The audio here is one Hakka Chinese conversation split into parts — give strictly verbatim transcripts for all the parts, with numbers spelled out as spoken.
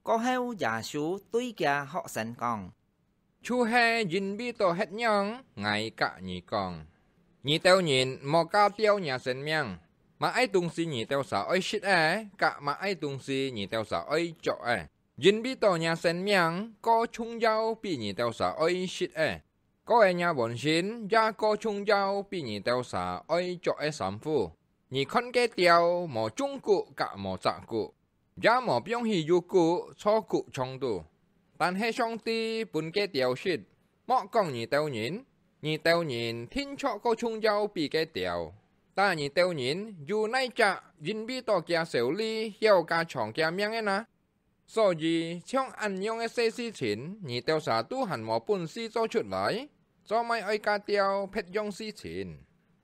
過後，耶穌對厥學生講：「就係因為到歇仰，𠊎佮你講，你兜人莫加吊若生命，麼个東西你兜儕愛食个，佮麼个東西你兜儕愛著个。因為到若生命，過重要比你兜儕愛食个，過个若本性也過重要比你兜儕愛著个衫褲。你看該鳥，無種穀佮無紮穀，也無放去乳庫、倉庫場肚，但係上帝分該鳥食。莫講你兜人，你兜人定著過重要比該鳥。但你兜人有哪隻因為到厥愁慮，曉加長厥命个呢？所以，像恁樣个細事情，你兜儕都還無本事做出來，做麼个愛加吊別樣事情？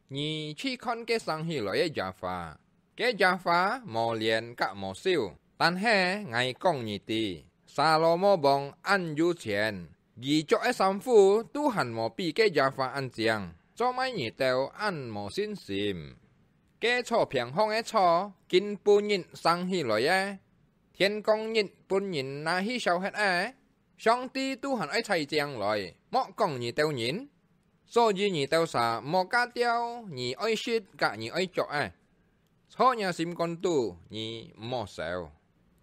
你去看該生起來个野花，該野花無剪佮無收，但係𠊎講你知，撒羅摩王恁有錢，佢著个衫褲都還無比該野花恁靚，做麼个你兜恁無信心？該草坪項个草，今晡日生起來个，天光日分人拿去燒忒个，上帝都還愛採淨來，莫講你兜人。所以你兜儕莫加吊你愛食佮你愛著个，在若心肝肚你毋好愁，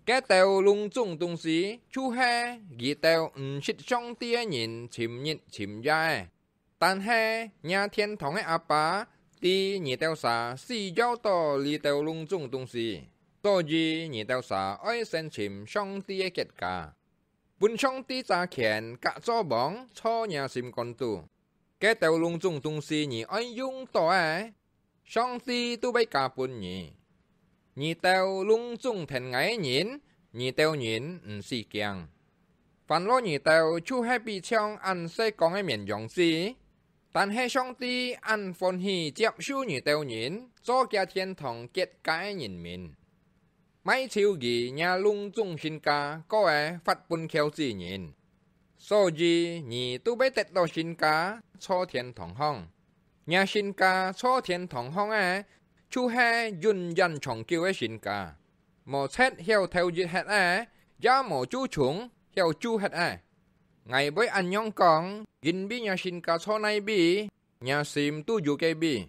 該兜攏總東西就係佢兜毋識上帝个人尋日尋夜个。但係若天堂个阿爸知你兜儕需要到這兜攏總東西，所以你兜儕愛先尋上帝个國家，分上帝揸權佮做王在若心肝肚。該兜攏總東西你愛用到个，上帝都會加分你。你兜攏總跈𠊎个人，你兜人毋使驚。煩惱你兜就係比像恁細剛个綿羊子，但係上帝恁歡喜接受你兜人做厥天堂國家个人民。 賣臭佢若攏總身家，過个發分撟子人。所以你都會得到身家在天堂項。若身家在天堂項个，就係永遠長久个身家，無賊曉偷入忒个，也無蛀蟲曉蛀忒个。𠊎會恁樣講，因為若身家在哪位，若心都有該位。